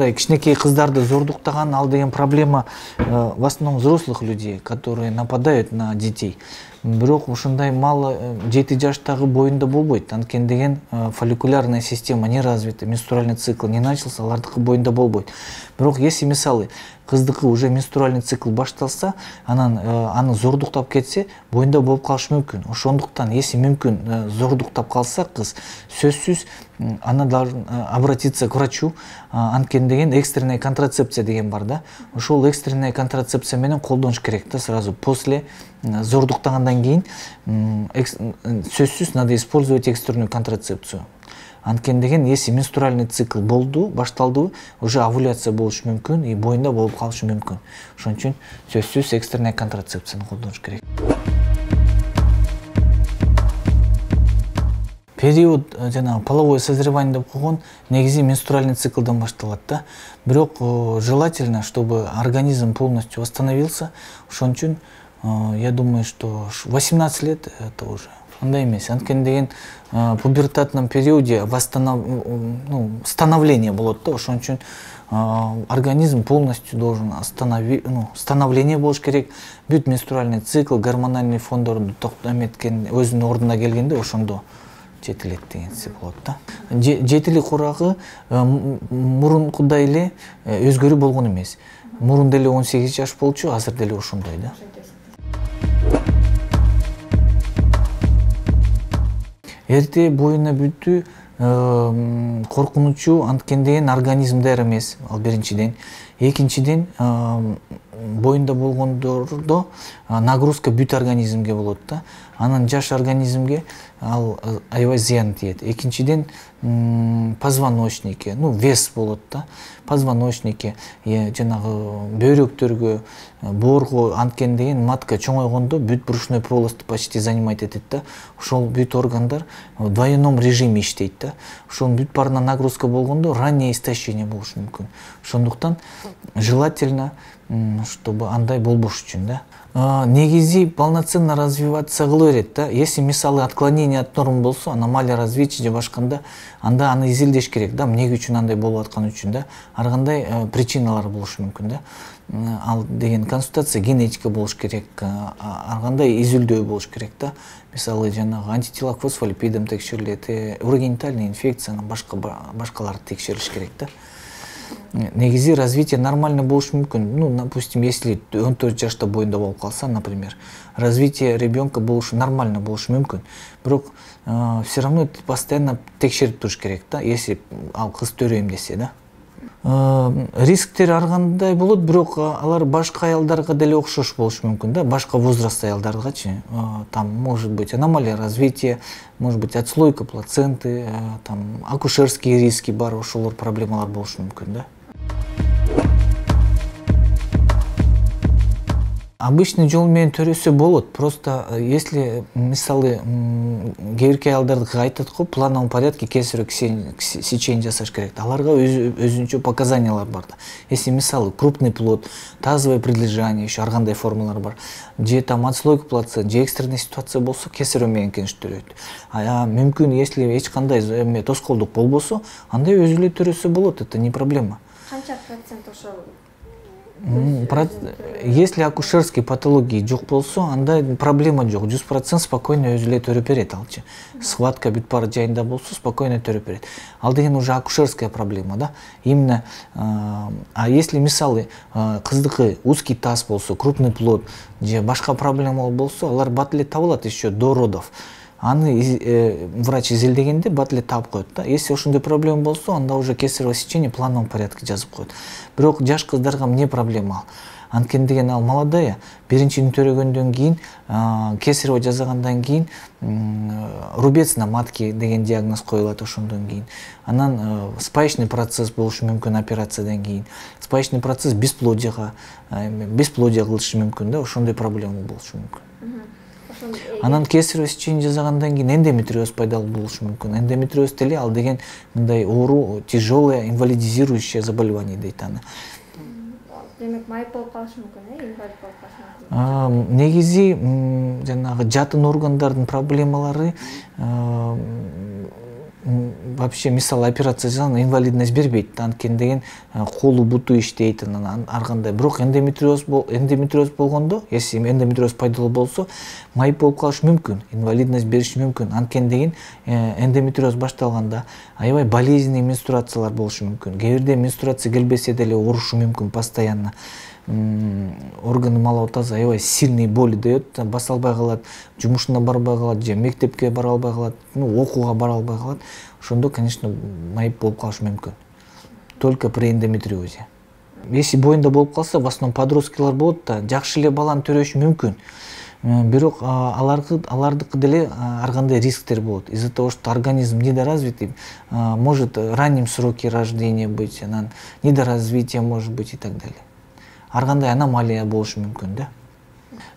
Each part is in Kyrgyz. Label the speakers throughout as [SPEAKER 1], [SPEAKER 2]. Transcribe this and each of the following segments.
[SPEAKER 1] мындай кичинекей кыздарды зордуктаган ал деген проблема в основном взрослых людей, которые нападают на детей. Бирок ушундай мал 7 жаштагы боюнда болбойт. Анткени деген фолликулярная система не развита, менструальный цикл не начался, алардыкы боюнда болбойт. Бирок если мисалы кыздыкы уже менструальный цикл башталса, анан аны зордуктап кетсе, боюнда болуп калышы мүмкүн. Ошондуктан, если мүмкүн зордуктап калса кыз, сөзсүз она должна обратиться к врачу. Анткени деген экстренная контрацепция деген бар да. Ошол экстренная контрацепция менен колдонуш керек да сразу после зордуктагандан кийин сөзсүз надо использовать экстренную контрацепцию. Анткени деген если менструальный цикл болду, башталды, уже овуляция болушу мүмкүн и боюнда болуп калышы мүмкүн. Ошон үчүн сөзсүз экстренная контрацепцияны колдонуш керек. Период жана половое созревание деп койгон негизи менструальный циклдан башталат да. Бирок желательно, чтобы организм полностью восстановился. Ошон үчүн я думаю, что 18 лет это уже андай эмес. Анткени деген пубертатном периоде становление болот да. Ошон үчүн организм полностью должен становление болуш керек. Бүт менструальный цикл, гормональный фондорду токтометкен өзүнүн ордуна келгенде ошондо жетилет дегенси болот да. Жетилик урагы мурункудай эле өзгөрүү болгон эмес. Мурун деле 18 жаш болчу, азыр деле ошондой да. Эрте боюна бүтүү коркунучу, анткени деген организм даяр эмес, ал биринчиден. Экинчиден боюнда болгондордо нагрузка бүт организмге болот да. Анан жаш организмге ал аябай зыян тиет. Экинчиден позвоночнике, вес болот да. Позвоночнике, жанагы бөйрөктөргө, боорго, анткени деген матка чоңойгондо бүт брюшной полосту почти занимать этет да. Ошол бүт органдар в двойном режиме иштейт да. Ошол бүт баарына нагрузка болгондо раннее истощение болушу мүмкүн. Ошондуктан желательно, чтобы андай болбош үчүн да. Негизи полноценно развиваться кыла берет да. Если мисалы отклонение от норм болсо, аномалия развития же башканда, анда аны изилдеш керек да, эмне үчүн андай болуп атканы үчүн да. Ар кандай причиналар болушу мүмкүн да. Ал деген консультация генетика болуш керек, ар кандай изилдөө болуш керек да. Мисалы жанагы антитела к фосфолипидам текшерилет, урогенитальная инфекция, башкаларды текшерилиш керек да. Негизи развитие нормально болушу мүмкүн. Допустим, если 14 жашта боюнда болуп калса, например, развитие ребенка нормально болушу мүмкүн. Бирок все равно постоянно текшерип туруш керек да, если ал кыз төрөйм десе да. Рисктер ар кандай болот, бирок алар башка аялдарга деле окшош болушу мүмкүн да, башка возраст аялдаргачы. Там может быть аномалия развития, может быть отслойка плаценты, там акушерские риски бар, ошолор проблемалар болушу мүмкүн да. Обычный жол менен төрөсө болот. Просто если мисалы кээ бирки аялдарды айтат го, плановом порядке кесаревый сечение жасаш керек. Аларга өзүнчө показаниялар бар да. Если мисалы крупный плод, тазовое прилежание, еще ар кандай формалар бар. Же там отслойка плацента, же экстренный ситуация болсо, кесаревый менен төрөйт. Мүмкүн, если эч кандай тоскоолдук болбосо, андай өзү эле төрөсө болот, это не проблема.
[SPEAKER 2] Канча процент ошол?
[SPEAKER 1] Если акушерские патологии жок болсо, анда проблема жок. 100% спокойно өзү эле төрөп берет алчы. Схватка бүт баары жайында болсо, спокойно төрөп берет. Ал деген уже акушерская проблема да. Именно если мисалы кыздыкы узкий таз болсо, крупный плод же башка проблема болсо, алар бат эле табылат еще до родов. Аны врач изилдегенде бат эле таап коет да. Если ошондой проблема болсо, анда уже кесарево сечение в плановом порядке жазып коет. Бирок жаш кыздарга эмне проблема ал? Анткени деген ал молодая, биринчини төрөгөндөн кийин, кесарево жасагандан кийин рубец на матке деген диагноз коюлат ошондон кийин. Анан спаечный процесс болушу мүмкүн операциядан кийин. Спаечный процесс бесплодие кылышы мүмкүн да, ошондой проблема болушу мүмкүн. Анан кесарево сечение жасагандан кийин эндометриоз пайдалуу болушу мүмкүн. Эндометриоз деле ал деген мындай оору, тяжелое инвалидизирующее заболевание дейт аны.
[SPEAKER 2] Демек майып болуп калышы мүмкүн, инвалид болуп калышы мүмкүн.
[SPEAKER 1] Негизи жанагы жатын органдардын проблемалары вообще мисалы операция жасаганда инвалидность бербейт, анткени деген колу буту иштейт, анан ар кандай. Бирок эндометриоз болгондо, если эндометриоз пайдалуу болсо, майып болуп калышы мүмкүн, инвалидность бериши мүмкүн. Анткени деген эндометриоз башталганда аябай болезненный менструациялар болушу мүмкүн. Кээ бирде менструация келбесе деле оорушу мүмкүн постоянно. Органы малого таза аябай сильный боли дает, баса албай калат, жумушуна барбай калат, же мектепке бара албай калат, окууга бара албай калат. Ошондо, конечно, майып болуп калышы мүмкүн. Только при эндометриозе. Если боюнда болуп калса, в основном подросткилар болот да, жакшы эле баланы төрөшү мүмкүн. Бирок алардыкы деле ар кандай рисктер болот. Из-за того, что организм недоразвитый, может ранним сроки рождения быть, анан недоразвитие может быть и так далее. Ар кандай аномалия болушу мүмкүн да.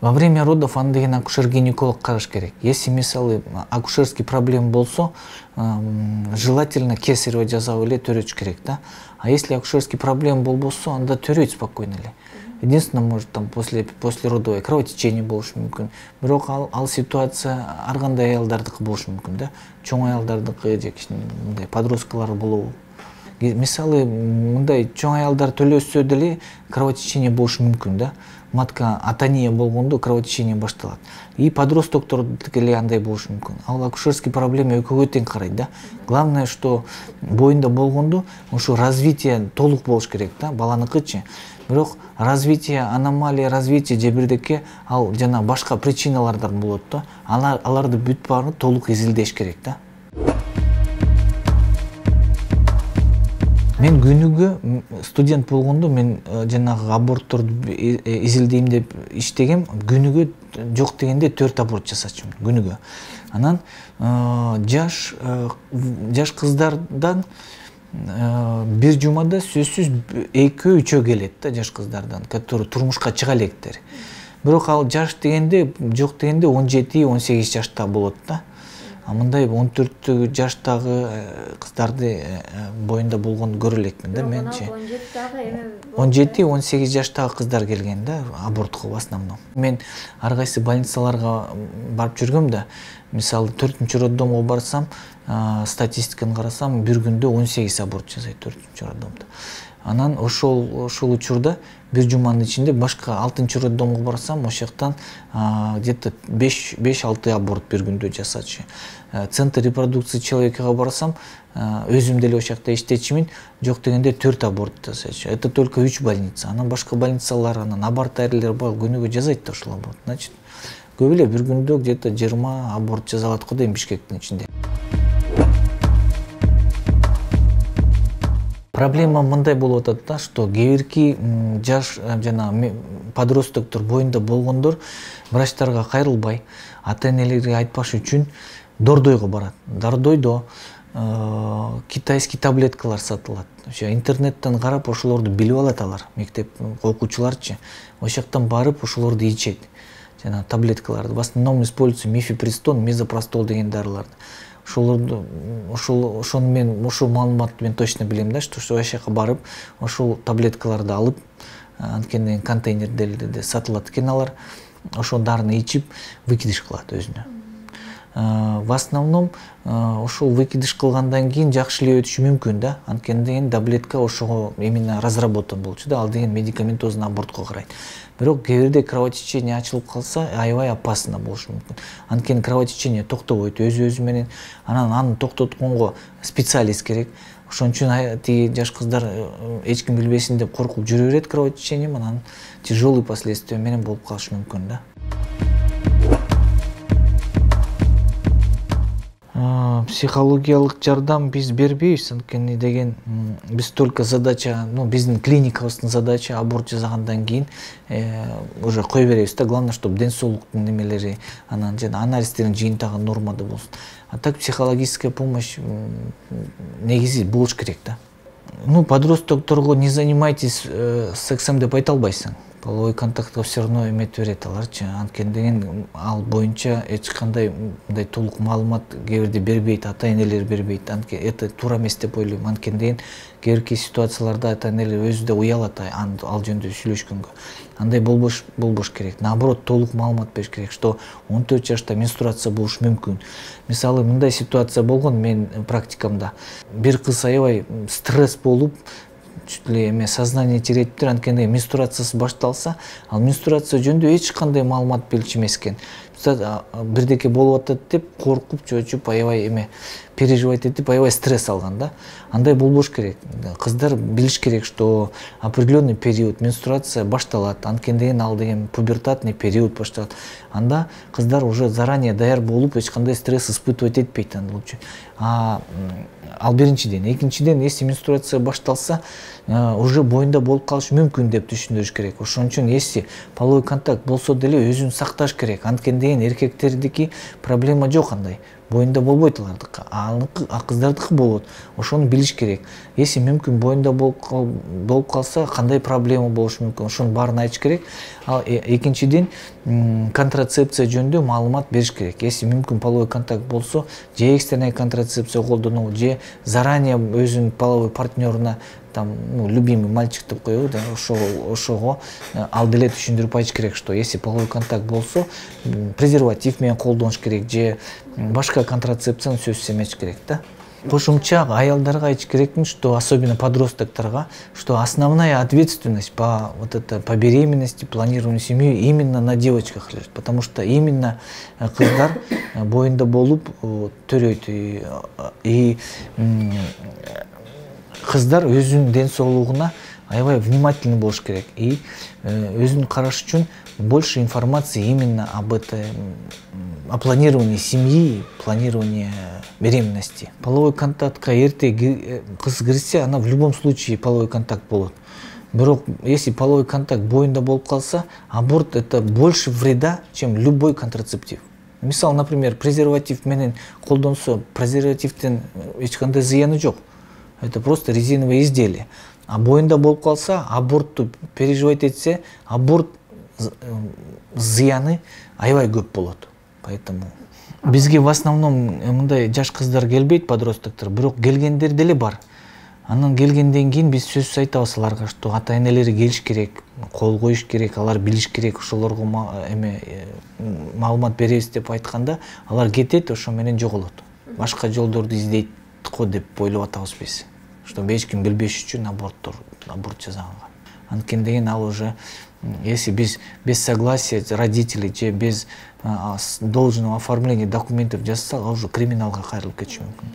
[SPEAKER 1] Во время родов аны деген акушер-гинеколог караш керек. Если мисалы акушерский проблема болсо, желательно кесарево жасап эле төрөш керек да. А если акушерский проблема болбосо, анда төрөйт спокойно эле. Единственное, может там послеродовое кровотечение болушу мүмкүн. Бирок ал ситуация ар кандай аялдардыкы болушу мүмкүн да. Чоң аялдардыкы же мындай подросткалар болобу. Мисалы мындай чоң аялдар төлөсө деле кровотечение болушу мүмкүн да. Матка атония болгондо кровотечение башталат. И подростоктордуки эле андай болушу мүмкүн. Ал акушерский проблема экөөгө тең карайт да. Главное, что боюнда болгондо ошо развитие толук болуш керек да, баланыкычы. Бирок развитие, аномалия развития же бирдеке ал жана башка причиналардан болот да. Аларды бүт баарын толук изилдеш керек да. Мен күнүгө студент болгондо мен жанагы абортторду изилдейм деп иштегем. Күнүгө жок дегенде 4 аборт жасачумун күнүгө. Анан жаш кыздардан бир жумада сөзсүз 2-3 келет да, жаш кыздардан, которые турмушка чыга электер. Бирок ал жаш дегенде, жок дегенде 17-18 жашта болот да. А мындай 14 жаштагы кыздарды боюнда болгонду көрө элекмин да менчи. 17-18 жаштагы кыздар келген да абортко в основном. Мен ар кайсы больницаларга барып жүргөм да. Мисалы 4-чү роддомго барсам, статистиканы карасам, бир күндө 18 аборт жасайт 4-чү роддомдо. Анан ошол учурда бир жуманын ичинде башка 6-чы роддомго барсам, ошол жактан где-то 5-6 аборт бир күндө жасачу. Центр репродукции человекага барсам, өзүм деле ошол жакта иштечимин, жок дегенде 4 аборт жасачу. Это только 3 больница. Анан башка больницалар, анан абортариялер бар, күнүгө жасайт да ошол аборт. Значит, көп эле бир күндө где-то 20 аборт жасалат го дейм Бишкектин ичинде. Проблема мындай болуп атат да, что кээ жаш жана подростоктор боюнда болгондор врачтарга кайрылбай, ата-энелерге айтпаш үчүн Дордойго барат. Дордойдо китайский таблеткалар сатылат. Ошо интернеттен карап ошолорду билип алат алар, мектеп окуучуларчы. Ошол жактан барып ошолорду ичет. Жана таблеткаларды в основном используется мифепристон, мезопростол деген дарыларды. Ошону мен ошол маалыматты мен точно билем да, что ошол жака барып, ошол таблеткаларды алып, анткени контейнерде сатылат экен алар. Ошол дарыны ичип, выкидыш кылат өзүнө. В основном ошол выкидыш кылгандан кийин жакшы эле өтүшү мүмкүн да, анткени деген таблетка ошого именно разработан болчу да, ал деген медикаментозный абортко карайт. Бирок кээ бирде кровотечение ачылып калса, аябай опасно болушу мүмкүн. Анткени кровотечение токтобойт өзү менен, анан аны токтотконго специалист керек. Ошон үчүн тиги жаш кыздар эч ким билбесин деп коркуп жүрө берет кровотечение, анан тяжелый последствия менен болуп калышы мүмкүн да. Психологиялык жардам биз бербейбиз, анткени деген биз только задача, биздин клиникабыздын задача аборт жасагандан кийин уже кое беребиз да, главное, чтобы ден соолуктун немелери, анан жана анализдердин жыйынтыгы нормада болсун. А так психологическая помощь негизи болуш керек да. Подростокторго не занимайтесь сексом деп айта албайсың. Половой контактка все равно эметип берет аларчы. Анткени деген ал боюнча эч кандай мындай толук маалымат кээ бирде бербейт, ата-энелер бербейт. Это туура эмес деп ойлойм. Анткени деген кээ бирки ситуацияларда ата энелер өзү да уялат ал жөнүндө сүйлөшкөнгө. Андай болбош керек. Наоборот, толук маалымат бериш керек, что 14 жашта менструация болушу мүмкүн. Мисалы, мындай ситуация болгон мен практикамда. Бир кыз аябай стресс болуп, чуть ли эме сознание теретиптир, анткени менструациясы башталса, ал менструация жөнүндө эч кандай маалымат билчү эмес экен. Бирдеке болуп атат деп коркуп, чочуп, аябай эме переживать этип, аябай стресс алган да. Андай болбош керек. Кыздар билиш керек, что определенный период менструация башталат, анткени деген ал деген пубертатный период башталат. Анда кыздар уже заранее даяр болуп, эч кандай стресс испытывать этпейт андыл үчүн. Ал биринчиден. Экинчиден, если менструация башталса, уже боюнда болуп калышы мүмкүн деп түшүндүрүш керек. Ошон үчүн если половой контакт болсо деле өзүн сакташ керек. Анткени деген эркектердики проблема жок андай. Боюнда болбойт алардыкы, а кыздардыкы болот. Ошону билиш керек. Если мүмкүн боюнда болуп калса, кандай проблема болушу мүмкүн, ошонун баарын айтыш керек. Ал экинчиден, контрацепция жөнүндө маалымат бериш керек. Если мүмкүн половой контакт болсо, же экстренная контрацепция колдонуу, же заранее өзүнүн половой партнеруна там, любимый мальчик деп коебу да, ошого ал деле түшүндүрүп айтыш керек, что если половой контакт болсо, презерватив менен колдонуш керек, же башка контрацепцияны сөзсүз эметиш керек да. Кошумча аялдарга айтыш керекмин, что особенно подростокторго, что основная ответственность по беременности, планированию семьи именно на девочках лежит, потому что именно кыздар боюнда болуп төрөйт и кыздар өзүнүн ден соолугуна аябай внимательный болуш керек и өзүн караш үчүн больше информации именно о планировании семьи, планировании беременности. Половой контактка эрте кыз кирсе, она в любом случае половой контакт болот. Бирок если половой контакт боюнда болуп калса, аборт это больше вреда, чем любой контрацептив. Мисалы, например, презерватив менен колдонсо, презервативден эч кандай зыяны жок. Это просто резиновое изделие. А боюнда болуп калса, абортту переживать этсе, аборт зыяны аябай көп болот. Поэтому бизге в основном мындай жаш кыздар келбейт, подростоктор, бирок келгендер деле бар. Анан келгенден кийин биз сөзсүз айтабыз аларга, что ата энелери келиш керек, кол коюш керек, алар билиш керек, ошолорго маалымат беребиз деп айтканда, алар кетет, ошо менен жоголот. Башка жолдорду издейт го деп ойлоп атабыз биз. Чтобы эч ким билбеш үчүн аборт жасаганга. Анткени деген ал уже, если без согласия родителей, же без должного оформления документов жасаса, ал уже криминалга кайрылып кетиши мүмкүн.